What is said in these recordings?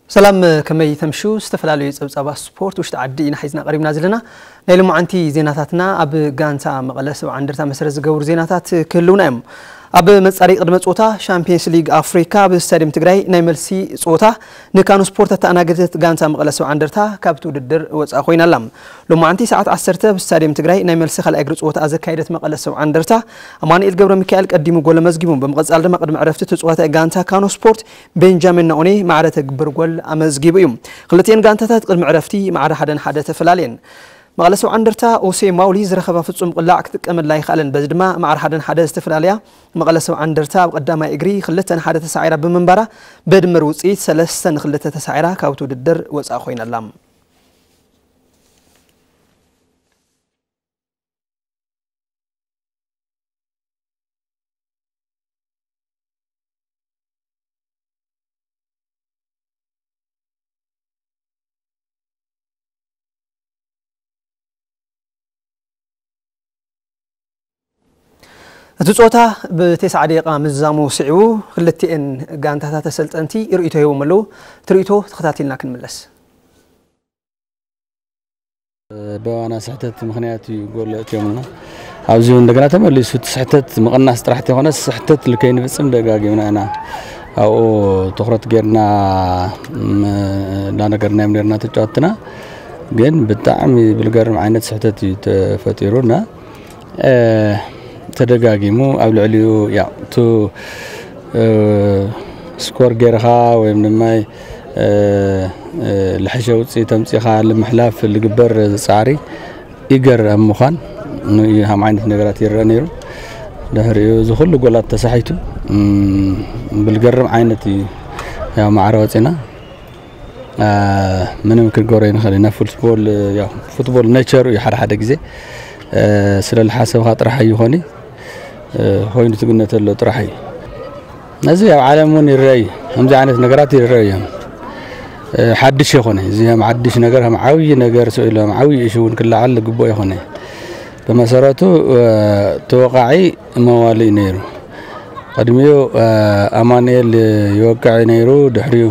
ሰላም፣ ከመይ ተምሹ? ዝተፈላለዩ ጸብጻባት ስፖርት ውሽጢ ዓዲ ኢና ሒዝና ቀሪብና ዘለና። ናይ ሎማዓንቲ ዜናታትና ኣብ ጋንታ መቐለ ሰብዓ እንደርታ መሰረት ዝገብሩ ዜናታት ክህልውና እዮም። ኣብ መጻረዪ ቅድመ ጾታ ሻምፒየንስ ሊግ ኣፍሪካ ኣብ ስታዲየም ትግራይ ናይ መልሲ ጾታ ንካኑ ስፖርት ኣተኣናገደት ጋንታ መቐለ ሰብዓ እንደርታ ካብቲ ውድድር ወጻእ ኮይና ኣላ። ሎማዓንቲ ሰዓት ዓሰርተ ብስታዲየም ትግራይ ናይ መልሲ ካልኣይ እግሪ ጸወታ ዘካየደት መቐለ ሰብዓ እንደርታ ኣማኑኤል ገብረ ሚካኤል ቀዲሙ ጎል ኣመዝጊቡ። ብምቕጻል ድማ ቅድሚ ዕረፍቲ ተጻዋታይ ጋንታ ካኑ ስፖርት ቤንጃሚን ናኦኔ ማዕረ ተግብር ጎል ኣመዝጊቡ እዩ። ክልቲኤን ጋንታታት ቅድሚ ዕረፍቲ ማዕረ ሓደ ንሓደ ተፈላለየን። መቐለ ሰብዓ እንደርታ ኦሴ ማውሊ ዝረኸባ ፍጹም ቅላዕ ክጥቀመላ ኣይከኣለን። በዚ ድማ ማዕረ ሓደ ንሓደ ዝተፈላለያ። መቐለ ሰብዓ እንደርታ ኣብ ቀዳማይ እግሪ ክልተ ንሓደ ተሳዒራ ብምንባራ ብድምር ውጽኢት ሰለስተ ንክልተ ተሳዒራ ካብቲ ውድድር ወጻእ ኮይና ኣላ። እቲ ጾታ ብቴስዓ ደቂቓ ምዝዛሙ ስዒቡ ክልቲኤን ጋንታታት ኣሰልጠንቲ ርእይቶ ሂቦም ኣለዉ። እቲ ርእይቶ ተኸታቲልና ክንምለስ። በዋና ስሕተት ምኽንያት እዩ ጎል ኣእትዮምና። ኣብዚ እውን እንደገና ተመሊሱ እቲ ስሕተት ምቕናስ ጥራሕ ተይኮነ ስሕተት ልከይንፍጽም ደጋጊምና ኢና ኣብኡ ትኹረት ጌርና እንዳነገርናዮም ኔርና ተጫወትና። ግን ብጣዕሚ ብልገርም ዓይነት ስሕተት እዩ ተፈጢሩና። ተደጋጊሙ ኣብ ልዕሊኡ ያው ቱ ስኮር ጌርኻ ወይም ድማ ልሕሸ ውፅኢት ተምፂኻ ልምሕላፍ ልግበር ፃዕሪ ይገርም ምዃን ንዩ ሃም ዓይነት ነገራት ይረአ ነይሩ። ድሕሪኡ እዚ ኩሉ ጎላት ተሳሒቱ ብልገርም ዓይነት እዩ ያው ማዕረ ወፂና። ምንም ክንገብሮ ይንኽእል ኢና። ፉትቦል ያው ፉትቦል ኔቸሩ እዩ። ሓደ ሓደ ግዜ ስለ ዝሓሰብካ ጥራሕ ኣይኾኒ ኮይኑ ትግነተሎ ጥራሕ እዩ። ነዚ ኣብ ዓለም እውን ይረአ እዩ። ከምዚ ዓይነት ነገራት ይረአ እዮም። ሓድሽ ይኾነ እዚ ከም ሓድሽ ነገር ከም ዓብዪ ነገር ስኢሎም ዓብዪ እሹ እውን ክለዓል ግቡእ ይኾነ። ብመሰረቱ ተወቃዒ መዋሊ እዩ ነይሩ። ቅድሚኡ ኣማኑኤል ይወቅዕ ነይሩ። ድሕሪኡ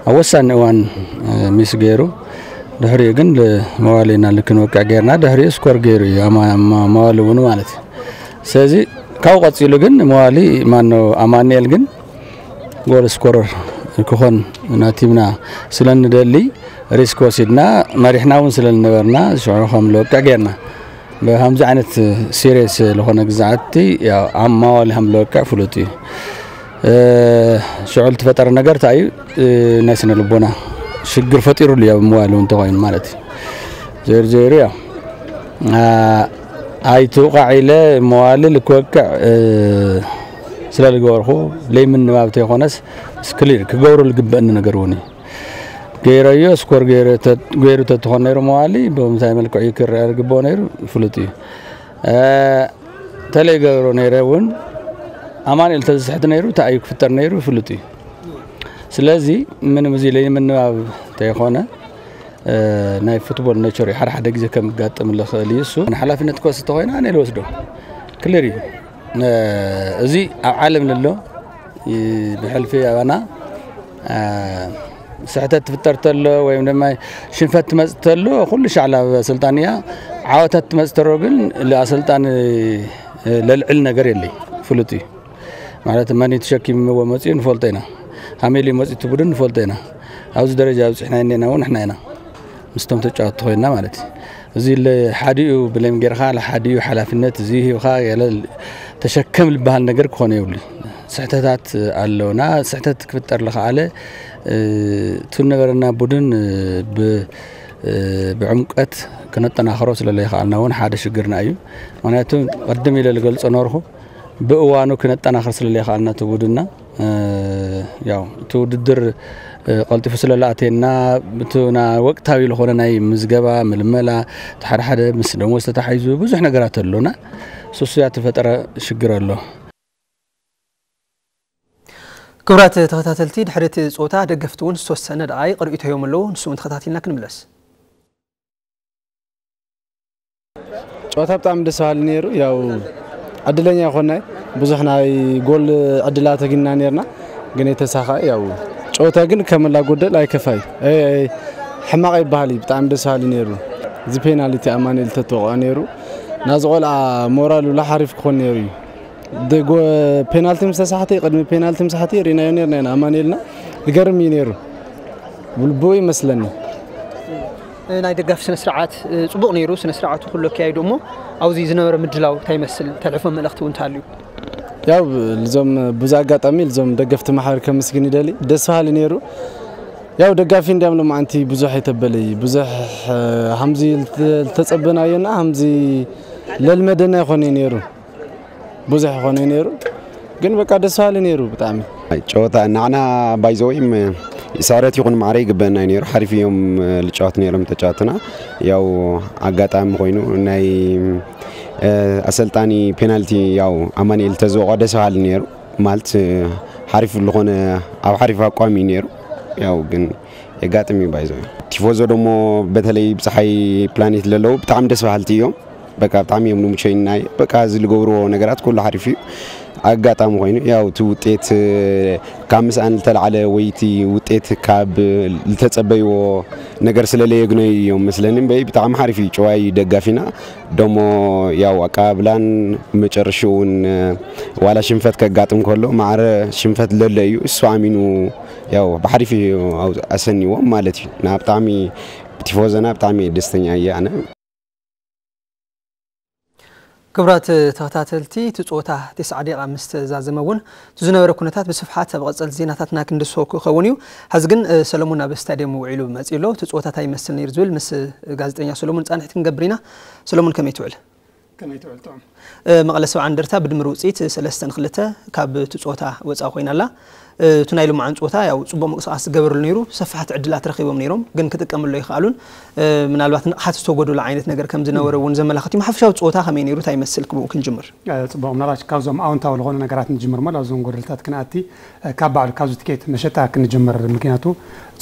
ኣብ ወሳኒ እዋን ሚስ ገይሩ። ድሕሪኡ ግን መዋሊና ልክንወቅዕ ገይርና ድሕሪኡ ስኮር ገይሩ እዩ መዋሊ እውን ማለት እዩ። ስለዚ ካብኡ ቀፂሉ ግን መዋሊ ማኖ ኣማኑኤል ግን ጎል ስኮረር ክኾን ናቲምና ስለ ንደሊ ሪስክ ወሲድና መሪሕና እውን ስለ ዝነበርና ሽዑ ከም ልወቅዕ ገይርና። ብከምዚ ዓይነት ሲሪየስ ዝኾነ ግዛዓቲ ኣብ ማዋሊ ከም ልወቅዕ ፍሉጥ እዩ። ሽዑ ልትፈጠረ ነገር እንታይ እዩ? ናይ ስነ ልቦና ሽግር ፈጢሩሉ እዩ ኣብ መዋሊ እውን ተኮይኑ ማለት እዩ። ዘይሩ ዘይሩ ያ ኣይትውቃዕ ኢለ መዋሊ ልክወቅዕ ስለ ዝገበርኩ ለይምንባብ ተይኮነስ ክሊር ክገብሩ ዝግበእኒ ነገር እውን እዩ። ገይረዮ ስኮር ገይሩ ተትኾን ነይሩ መዋሊ ብምንታይ መልክዕ እዩ ክረአ ዝግበኦ ነይሩ ፍሉጥ እዩ። ተለይ ገብሮ ነይረ እውን ኣማኑኤል ተዝስሕት ነይሩ እንታይ እዩ ክፍጠር ነይሩ ፍሉጥ እዩ። ስለዚ ምንም እዚ ለይምንባብ ተይኮነ ናይ ፉትቦል ኔቸር እዩ። ሓደ ሓደ ግዜ ከም ጋጥም ልኽእል እዩ እሱ ሓላፍነት ክወስድ ተኮይነ ኣነ ልወስዶ ክሊር እዩ። እዚ ኣብ ዓለም ንሎ ብሕልፊ ኣባና ስሕተት ትፍጠር ተሎ ወይም ድማ ሽንፈት ትመጽእ ተሎ ኩሉ ሻዕላ ኣብ ኣሰልጣኒ እያ። ዓወታት ትመጽእ ተሎ ግን ኣሰልጣኒ ለልዕል ነገር የለይ ፍሉጥ እዩ። ማለት መን ተሸኪምዎ መጺኡ ንፈልጦ ኢና። ካሜል እዩ መጺኡ ትቡድን ንፈልጦ ኢና። ኣብዚ ደረጃ ኣብፅሕና እኔና እውን ንሕና ኢና ምስቶም ተጫወትቲ ኮይና ማለት እዩ። እዚ ሓዲኡ ብሌም ጌርካ ሓዲኡ ሓላፍነት እዚ ሂብካ ገለ ተሸከም ዝበሃል ነገር ክኾነ የብሉ። ስሕተታት ኣለውና። ስሕተት ክፍጠር ዝኸኣለ እቱ ነበረና ቡድን ብዕምቀት ክነጠናኽሮ ስለለይኸኣልና እውን ሓደ ሽግርና እዩ። ምክንያቱ ቅድም ኢለ ዝገልፆ ነበርኩ ብእዋኑ ክነጠናኽር ስለለይኸኣልና እቲ ቡድንና ያው እቲ ውድድር ቀልጢፉ ስለላኣተና እቲ ወቅታዊ ዝኾነ ናይ ምዝገባ ምልመላ ሓደ ሓደ ምስ ደሞዝ ተታሒዙ ብዙሕ ነገራት ኣሎና። ሱሱያ ተፈጠረ ሽግር ኣሎ። ክቡራት ተኸታተልቲ ድሕሪ እቲ ፆታ ደገፍቲ እውን ዝተወሰነ ደቓይቕ ርእይቶ ዮም ኣለዉ። ንሱ እውን ተኸታቲልና ክንምለስ። ጨዋታ ብጣዕሚ ደስ በሃሊ ነይሩ። ያው ዕድለኛ ይኾናይ ብዙሕ ናይ ጎል ዕድላት ኣግኝና ነርና ግን የተሳኻ ያው ጨወታ ግን ከመላ ጎደል ኣይከፋይ ሕማቕ ይበሃል እዩ። ብጣዕሚ ደስ በሃሊ ነይሩ። እዚ ፔናልቲ ኣማኑኤል ተተወቕዖ ነይሩ ናዚ ቆልዓ ሞራል ውላ ሓሪፍ ክኾን ነይሩ እዩ። ፔናልቲ ምስ ተሳሕተ ቅድሚ ፔናልቲ ምስ ተሳሕተ ርኢናዮ ነርና ኢና ኣማኑኤልና። ዝገርም እዩ ነይሩ። ብልቡ ይመስለኒ። ናይ ደጋፊ ስነ ስርዓት ጽቡቕ ነይሩ። ስነ ስርዓቱ ኩሉ ኣካይዱ እሞ ኣብዚ ዝነበረ ምድላው እንታይ ይመስል? ተልሕፎ መልእኽቲ እውን እንተሃልዩ? ያው ልዞም ብዙ ኣጋጣሚ ልዞም ደገፍቲ ማሕበር ከመስግን ይደሊ። ደስ በሃሊ ነይሩ። ያው ደጋፊ እንዲያም ሎማዓንቲ ብዙሕ የተበለይ ብዙሕ ሃምዚ ልተጸበናዮና ሃምዚ ለልመደና ይኾነ ነይሩ። ብዙሕ ይኾነ ነይሩ። ግን በቃ ደስ በሃሊ ነይሩ ብጣዕሚ። ጨወታ ንዓና ባይዘወይም ስዕረት ይኹን ማዕረ ይግበአና እዩ ነይሩ። ሓሪፍ እዮም ልጫወት ነይሮም ተጫወትና። ያው ኣጋጣሚ ኮይኑ ናይ ኣሰልጣኒ ፔናልቲ ያው ኣማኑኤል ተዝወቆ ደስ በሃሊ ነይሩ። ማለት ሓሪፍ ዝኾነ ኣብ ሓሪፍ ኣቋም እዩ ነይሩ። ያው ግን የጋጥም እዩ ባይዘ ቲፎዞ ደሞ በተለይ ብፀሓይ ፕላኔት ለለዉ ብጣዕሚ ደስ በሃልቲ እዮም። በቃ ብጣዕሚ እዮም ንምቸይናይ በቃ እዚ ዝገብርዎ ነገራት ኩሉ ሓሪፍ እዩ። ኣጋጣሚ ኮይኑ ያው እቲ ውጤት ካብ ምስኣን ዝተላዕለ ወይ እቲ ውጤት ካብ ዝተፀበይዎ ነገር ስለለየግነዩ እዮም መስለኒ እምበይ ብጣዕሚ ሓሪፍ እዩ። ጨዋይ ደጋፊና ደሞ ያው ኣቀባብላን መጨረሽኡ እውን ዋላ ሽንፈት ከጋጥም ከሎ ማዕረ ሽንፈት ለለ እዩ እሱ ኣሚኑ ያው ብሓሪፍ እዩ ኣሰኒዎም ማለት እዩ። ና ብጣዕሚ ቲፎዘና ብጣዕሚ ደስተኛ እየ ኣነ። ክብራት ተኸታተልቲ እቲ ፀወታ ተስዓ ደቂቃ ምስ ተዛዘመ እውን እቲ ዝነበረ ኩነታት ብስፍሓት ኣብ ቀፀልቲ ዜናታትና ክንድስሶ ክኸውን እዩ። ሕዚ ግን ሰለሙን ኣብ ስታድየም ውዒሉ መፂኡ ኣሎ። እቲ ፀወታ እንታይ ይመስል ነይሩ ዝብል ምስ ጋዜጠኛ ሰለሙን ፃንሒት ክንገብር ኢና። ሰለሙን ከመይ ትውዕል? ከመይ ትውዕል ጥዑም? መቐለ ሰብዓ እንደርታ ብድምር ውፅኢት ሰለስተ ንክልተ ካብ እቲ ፀወታ ወፃ ኮይና ኣላ። እቲ ናይ ልምዓን ፀወታ ያው ፅቡቕ ምንቅስቃስ ዝገበርሉ ነይሩ። ሰፋሕቲ ዕድላት ረኺቦም ነይሮም ግን ክጥቀምሉ ኣይከኣሉን። ምናልባት ንቕሓት ዝተጎደሎ ዓይነት ነገር ከም ዝነበረ እውን ዘመላኽት እዩ። ሓፈሻዊ ፀወታ ከመይ ነይሩ እንታይ ይመስል ክብኡ ክንጅምር? ፅቡቕ ምናልባት ካብዞም ኣውንታዊ ዝኾኑ ነገራት ንጅምር እሞ ኣብዞም ጎደልታት ክንኣቲ ካብ ባዕሉ ካብዚ ትኬት መሸጣ ክንጅምር ምክንያቱ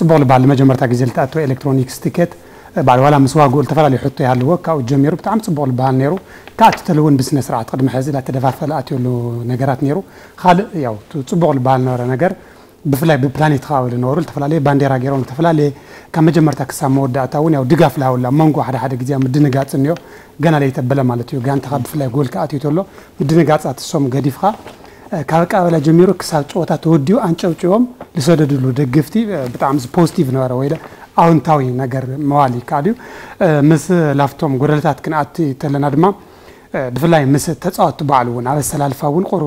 ፅቡቕ ልበሃል ንመጀመርታ ግዜ ልተኣተወ ኤሌክትሮኒክስ ትኬት ባዕሉ ዋላ ምስ ዋግኡ ዝተፈላለዩ ሕቶ ይሃልዎ ካብኡ ጀሚሩ ብጣዕሚ ፅቡቕ ልበሃል ነይሩ። ክኣቲ ተለውን ብስነ ስርዓት ቅድሚ ሕዚ ላተደፋፈለ ኣትዮ ኣሎ ነገራት ነይሩ። ካልእ ያው ጽቡቕ ልበሃል ነበረ ነገር ብፍላይ ብፕላኔት ከባቢ ዝነበሩ ዝተፈላለየ ባንዴራ ገይሮም ዝተፈላለየ ካብ መጀመርታ ክሳብ መወዳእታ እውን ያው ድጋፍ ልሃውላ መንጎ ሓደ ሓደ ግዜ ምድንጋጽ እኒኦ ገና ለይተበለ ማለት እዩ ጋንታኻ ብፍላይ ጎል ክኣትዩ ተሎ ምድንጋጻት እሶም ገዲፍኻ ካብ ኣቀባበላ ጀሚሩ ክሳብ ጨወታ ተወዲኡ ኣንጨውጭዎም ዝሰደድሉ ደገፍቲ ብጣዕሚ ፖዚቲቭ ነበረ ወይ ኣውንታዊ ነገር መዋል ይከኣል እዩ። ምስ ላፍቶም ጎደለታት ክንኣቲ ተለና ድማ ብፍላይ ምስ ተፃወትቲ ባዕሉ እውን ኣብ ኣሰላልፋ እውን ቁሩ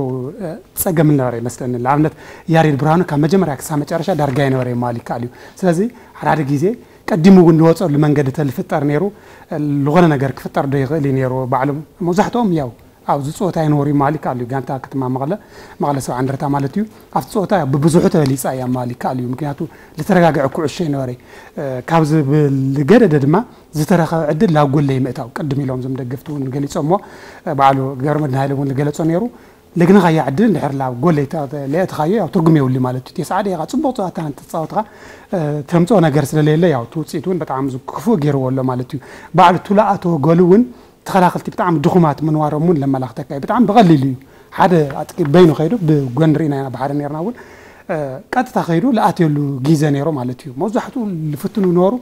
ፀገም ነበረ ይመስለኒ። ንኣብነት ያሬድ ብርሃኑ ካብ መጀመርያ ክሳብ መጨረሻ ዳርጋ ይነበረ ይማል ይከኣል እዩ። ስለዚ ሓደ ሓደ ግዜ ቀዲሙ እውን ዝወፀሉ መንገዲ ተልፍጠር ነይሩ ዝኾነ ነገር ክፍጠር ዶ ይኽእል እዩ ነይሩ ባዕሉ መብዛሕትኦም ያው ኣብዚ ፀወታ ይነበሩ ይማል ይከኣል እዩ። ጋንታ ከተማ መቐለ መቐለ ሰብዓ እንደርታ ማለት እዩ ኣብቲ ፀወታ ብብዝሑ ተበሊፃ እያ ማል ይከኣል እዩ። ምክንያቱ ዝተረጋግዐ ኩዕሾ ይነበረ ካብዚ ብልገደደ ድማ ዝተረኸበ ዕድል ናብ ጎል ለይምእታው ቅድም ኢሎም እዞም ደገፍቲ እውን ገሊፆሞ ባዕሉ ገብረመድህን ሃይለ እውን ዝገለፆ ነይሩ። ለግንኻያ ዕድል እንድሕር ናብ ጎል ለይተለእትኻዮ ያው ትርጉም የብሉ ማለት እዩ። ተስዓ ደቂቃ ፅቡቕ ፀዋታ እንተፃወትካ ተምፅኦ ነገር ስለለየለ ያው እቲ ውፅኢት እውን በጣም ክፉእ ገይርዎ ኣሎ ማለት እዩ። ባዕሉ እቲ ዝኣተወ ጎል እውን ተኸላኸልቲ ብጣዕሚ ድኹማት ምንባሮም እውን ለመላኽተካ እዩ። ብጣዕሚ ብቐሊሉ እዩ ሓደ ኣጥቂ በይኑ ከይዱ ብጎኒ ርኢና ኢና ብሓደ ነርና እውን ቀጥታ ከይዱ ዝኣትየሉ ግዜ ነይሮ ማለት እዩ። መብዛሕትኡ ዝፍትኑ ነበሩ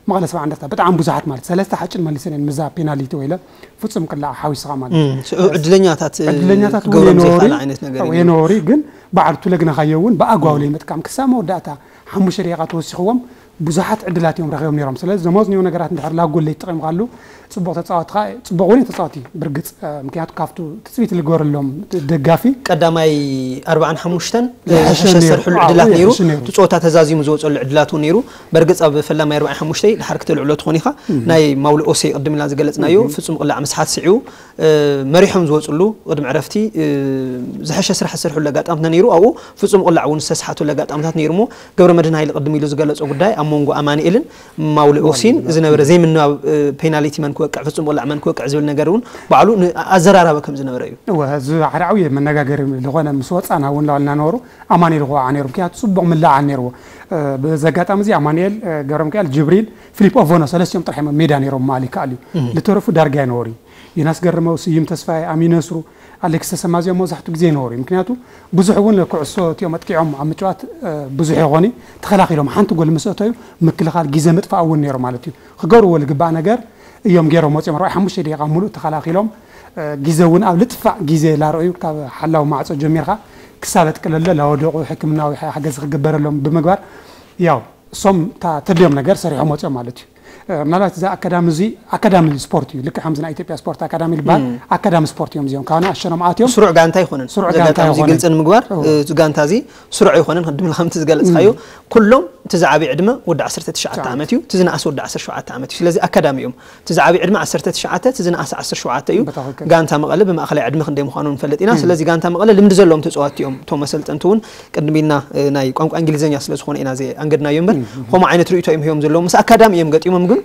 መቐለ ሰብዓ እንደርታ ብጣዕሚ ብዙሓት ማለት ሰለስተ ሓጭን መሊሰን እየን ምዛ ፔናሊቲ ወይለ ፍጹም ቅላዕ ሓዊስኻ ማለት እዩ። ዕድለኛታት ዕድለኛታት እውን ክገብሮም የነበሩ ዘይከኣል ዓይነት ነገር እዩ። የነበሩ ግን በዓል ቱለ ግናኻዮ እውን ብኣግባቡ ለይምጥቃም ክሳብ መወዳእታ ሓሙሽተ ደቂቓ ተወሲኽዎም ብዙሓት ዕድላት እዮም ረኺቦም ነይሮም። ስለዚ ዘመዝንዮ ነገራት እንድሕር ላብ ጎል ለይተጠቒምካሉ ፅቡቕ ተፃወትኻ ፅቡቕ እውን እዩ ተፃወቲ ብርግፅ ምክንያቱ ካብቱ ትፅቢት ልገበረሎም ደጋፊ ቀዳማይ ኣርባዓን ሓሙሽተን ዝሐሸ ዝሐሸ ነይሩ። ዝሰርሕሉ ኣዎ፣ ዕድላት ነይሩ። ዝሐሸ ነይሩ። እቲ ፀወታ ተዛዚሙ ዝወፀሉ ዕድላት እውን ነይሩ። በርግፅ ኣብ ፈላማይ ኣርባዓን ሓሙሽተ ድሓር ክተልዕሎ ትኾን ኢኻ። ናይ ማውሊ ኦሴ ቅድም ኢልና ዝገለፅናዮ ፍፁም ቅላዕ ምስሓት ስዒቡ መሪሖም ዝወፅሉ ቅድሚ ዕረፍቲ ዝሐሸ ስራሕ ዝሰርሕሉ ኣጋጣምታት ነይሩ። ኣብኡ ፍፁም ቅላዕ እውን ዝተስሓተሉ ኣጋጣምታት ነይሩ እሞ ገብረመድህን ሃይለ ቅድም ኢሉ ዝገለፆ ጉዳይ ኣብ መንጎ ኣማኑኤልን ማውሊ ኦሲን ዝነበረ ዘይምንባብ ፔናሊቲ መን ክወቅዕ ፍፁም ቅላዕ መን ክወቅዕ ዝብል ነገር እውን ባዕሉ ኣዘራራቢ ከም ዝነበረ እዩ። እወ እዚ ሓደ ዓብዪ መነጋገሪ ዝኾነ ምስ ወፃና እውን ላልና ነበሩ ኣማኑኤል ክወዓ ነይሩ ምክንያቱ ፅቡቕ ምላዓል ነይርዎ። በዚ ኣጋጣሚ እዚ ኣማኑኤል ገብረሚካኤል ጅብሪል ፊሊፕ ኦቮኖ ሰለስቲኦም ጥራሕ እዮም ሜዳ ነይሮም ምባል ይከኣል እዩ። ዝተረፉ ዳርጋ ኣይነበሩ እዩ። ዮናስ ገረመው፣ ስዩም ተስፋይ፣ ኣሚን ነስሩ፣ ኣሌክስ ተሰማ፣ እዚኦም መብዛሕትኡ ግዜ ይነበሩ እዩ። ምክንያቱ ብዙሕ እውን ኩዕሶ እቲኦም ኣጥቂዖም ኣብ ምጭዋት ብዙሕ ይኾኑ። ተኸላኺሎም ሓንቲ ጎል ምስ ኣተዩ ምክልኻል ግዜ ምጥፋእ እውን ነይሩ ማለት እዩ። ክገብርዎ ዝግባእ ነገር እዮም ገይሮም ወፂኦም። ኣርባዕተ ሓሙሽተ ደቂቃ ሙሉእ ተኸላኺሎም ግዜ እውን ኣብ ልጥፋእ ግዜ ላረእዩ ካብ ሓላው ማዕፆ ጀሚርካ ክሳብ ኣጥቅለለ ላወደቑ ሕክምናዊ ሓገዝ ክግበረሎም ብምግባር ያው እሶም እታ ተድልዮም ነገር ሰሪሖም ወፂኦም ማለት እዩ። ምናልባት እዛ ኣካዳሚ እዚ ኣካዳሚ ስፖርት እዩ። ልክዕ ከምዚ ናይ ኢትዮጵያ ስፖርት ኣካዳሚ ዝበሃል ኣካዳሚ ስፖርት እዮም እዚኦም። ካብ ንኣሸኖም ኣትዮም ስሩዕ ጋንታ ኣይኮነን። ስሩዕ እዚ ጋንታ ኣጋጣሚ እዚ ኣይኮነን። ግልፂ ንምግባር እዎ። እቲ ጋንታ እዚ ስሩዕ ኣይኮነን። ቅድም ኢልካ ከምቲ ዝገለፅካዮ ኩሎም እቲ ዝዓበየ ዕድመ ወዲ ዓሰርተ ትሽዓተ ዓመት እዩ። እቲ ዝነኣስ ወዲ ዓሰርተ ሸውዓተ ዓመት እዩ። ስለዚ ኣካዳሚ እዮም። እቲ ዝዓበየ ዕድመ ዓሰርተ ትሽዓተ፣ እቲ ዝነኣስ ዓሰርተ ሸውዓተ እዩ። ብትኽክል። ጋንታ መቐለ ብማእኸላይ ዕድመ ክንደይ ምዃኑ ንፈልጥ ኢና። ስለዚ ጋንታ መቐለ ልምዲ ዘለዎም ተፃወትቲ እዮም። እቶም ኣሰልጠንቲ እውን ቅድም ኢልና ናይ ቋንቋ እንግሊዝኛ ስለ ዝኾነ ኢና ዘይ ኣንገድናዮ እምበር ከምኡ ዓይነት ርእይቶ እዮም ሂቦም ዘለዉ። ምስ ኣካዳሚ እዮም ገጢሞም ግን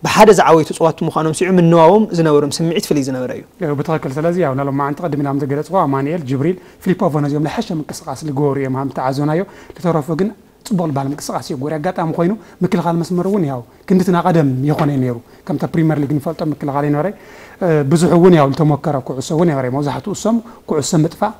ብሓደ ዝዓበዩ ተፃወትቲ ምዃኖም ስዒቡ ምንባቦም ዝነበሮም ስምዒት ፍልይ ዝነበረ እዩ። ብትኽክል። ስለዚ ያው ናሎም መዓንቲ ቅድም ኢሎም ዝገለፅዎ ኣማኑኤል፣ ጅብሪል፣ ፊሊፖ ቨኖ እዚኦም ዝሐሸ ምንቅስቃስ ዝገበሩ እዮም ሃም ተዓዘናዮ። ልተረፉ ግን ፅቡቕ ልባል ምንቅስቃስ እዩ ጎሪ ኣጋጣሚ ኮይኑ ምክልኻል መስመር እውን ያው ክንድትና ቀደም የኾነ ነይሩ። ከምታ ፕሪምየር ሊግ ንፈልጦ ምክልኻል ይነበረ። ብዙሕ እውን ያው ልተሞከረ ኩዕሶ እውን ነበረ። መብዛሕትኡ እሶም ኩዕሶ ምጥፋእ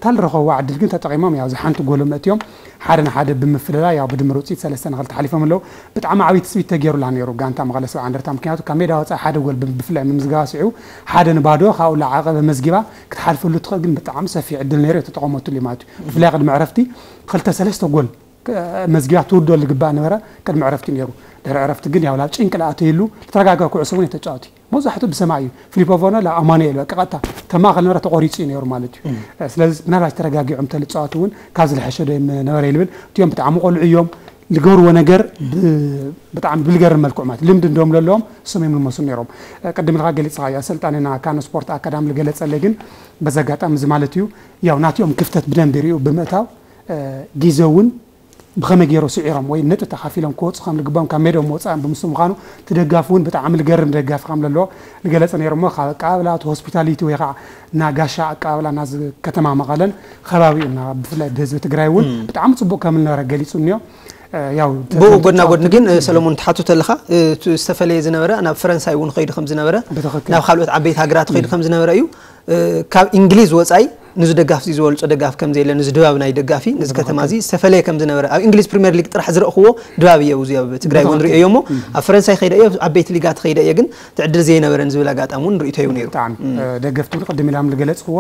ታልረኸብዋ ዕድል ግን ተጠቒሞም ያው ዝሓንቲ ጎሎም ኣእትዮም ሓደ ንሓደ ብምፍልላይ ያው ብድምር ውፅኢት ሰለስተ ንኽልተ ሓሊፎም ኣለዉ። ብጣዕሚ ዓብዪ ትፅቢት ተገይሩላ ነይሩ ጋንታ መቐለ ሰብዓ እንደርታ። ምክንያቱ ካብ ሜዳ ወፃኢ ሓደ ጎል ብፍላይ ምምዝጋባ ስዒቡ ሓደ ንባዶ ካብኡ ላዓቐበ መዝጊባ ክትሓልፈሉ ትኽእል ግን ብጣዕሚ ሰፊሕ ዕድል ነይሩ የተጠቐመትሉ ማለት እዩ። ብፍላይ ቅድሚ ዕረፍቲ ክልተ ሰለስተ ጎል መዝጊባ ትውድኦ ዝግባእ ነበረ። ቅድሚ ዕረፍቲ ነይሩ። ድሕሪ ዕረፍቲ ግን ያው ላብ ጭንቂ ላኣተየሉ ልተረጋጋ ኩዕሶ እውን የተጫወቱ መብዛሕትኡ ብሰማይ እዩ። ፊሊፖ ቨኖ ላብ ኣማኑኤል በቃ ቀጥታ ተማእኸል ነበረ ተቆሪፁ እዩ ነይሩ ማለት እዩ። ስለዚ ምናልባት ተረጋጊዖም ተልፃወቱ እውን ካብ ዝለሐሸ ዶ ነበረ ይልብል። እቲኦም ብጣዕሚ ቆልዑ እዮም። ዝገብርዎ ነገር ብጣዕሚ ብልገርም መልክዑ ማለት ልምዲ እንደም ለለዎም እሶም እዮም ልመስሉ ነይሮም። ቅድም ኢልካ ገሊፅኻዮ ኣሰልጣኒና ካኖ ስፖርት ኣካዳሚ ዝገለፀለይ ግን በዚ ኣጋጣሚ እዚ ማለት እዩ ያው ናቲኦም ክፍተት ብደንብ ይርእዩ ብምእታው ግዜ እውን ብኸመይ ገይሮ ስዒሮም ወይ ነጥቢ ተኻፊሎም ክወፁ ከም ዝግባኦም ካብ ሜድኦም ወፃእን ብምስሉ ምዃኑ እቲ ደጋፊ እውን ብጣዕሚ ዝገርም ደጋፊ ከም ዘለዎ ዝገለፀ ነይሩ እሞ ካብ ኣቀባብላ እቲ ሆስፒታሊቲ ወይ ከዓ እና ጋሻ ኣቀባብላ ናዚ ከተማ መቐለን ከባቢኡ እና ብፍላይ ብህዝቢ ትግራይ እውን ብጣዕሚ ፅቡቅ ከም ዝነበረ ገሊፁ እኒኦ። ያው ብኡ ጎድና ጎድኒ ግን ሰለሞን ትሓቱ ተለኻ ዝተፈለየ ዝነበረ ናብ ፈረንሳይ እውን ኸይዱ ከም ዝነበረ ናብ ካልኦት ዓበይቲ ሃገራት ኸይዱ ከም ዝነበረ እዩ። ካብ እንግሊዝ ወፃኢ ንዚ ደጋፍ እዚ ዝበልፆ ደጋፍ ከም ዘየለ ንዚ ድባብ ናይ ደጋፊ ንዚ ከተማ እዚ ዝተፈለየ ከም ዝነበረ ኣብ እንግሊዝ ፕሪምየር ሊግ ጥራሕ ዝረእኽዎ ድባብ እየ እዚ ኣብ ትግራይ እውን ርእዮ እሞ ኣብ ፈረንሳይ ከይደ እየ ኣብ ዓበይቲ ሊጋት ከይደ እየ ግን ትዕድል ዘይነበረን ዝብል ኣጋጣሚ እውን ርእቶ እዩ ነይሩ። ብጣዕሚ ደገፍቲ እውን ቅድም ኢላም ዝገለፅኽዎ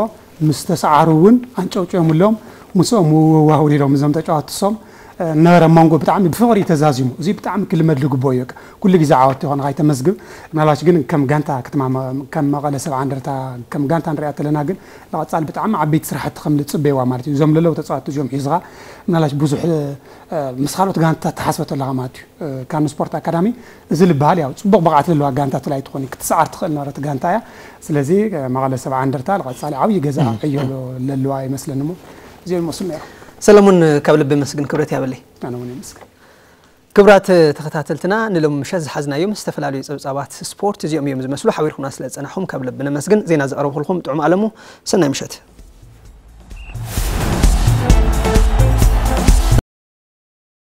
ምስ ተሰዓሩ እውን ኣንጨውጭዮምሎም ምስኦም ምውዋህ ውሪዶም እዞም ተጫዋትቲ ሶም ነበረ መንጎ ብጣዕሚ ብፍቕሪ ተዛዚሙ እዚ ብጣዕሚ ክልመድ ዝግብኦ እዩ። ኩሉ ግዜ ዓወት ይኾንኻ ይተመዝግብ። ምናልባሽ ግን ከም ጋንታ ከተማ ከም መቐለ ሰብዓ እንደርታ ከም ጋንታ ንሪኣ ተለና ግን ንቐፃሊ ብጣዕሚ ዓበይቲ ስራሕቲ ከም ዝፅበይዋ ማለት እዩ። እዞም ለለው ተፃወትቲ እዚኦም ሒዝኻ ምናልባሽ ብዙሕ ምስ ካልኦት ጋንታ ተሓስበ ተለኻ ማለት እዩ። ካኑ ስፖርት ኣካዳሚ እዚ ዝበሃል ያው ፅቡቕ ብቕዓት ዘለዋ ጋንታ ትላይ ትኾን ክትሰዓር ትኽእል ነበረት ጋንታ እያ። ስለዚ መቐለ ሰብዓ እንደርታ ንቐፃሊ ዓብዪ ገዛ ዕዮ ለለዋ ይመስለኒ እሞ እዚኦም ይመስሉ ነይሮም። ሰለሙን ካብ ልቢ መስግን ክብረት ያበለይ። ኣነ እውን የመስግን። ክብራት ተኸታተልትና ንሎም ምሸት ዝሓዝናዮም ዝተፈላለዩ ፀብፃባት ስፖርት እዚኦም እዮም ዝመስሉ ሓቢርኩምና ስለ ዝፀናሕኹም ካብ ልቢ ነመስግን ዜና ዘቕረብኩልኩም ጥዑም ኣለሙ ሰናይ ምሸት።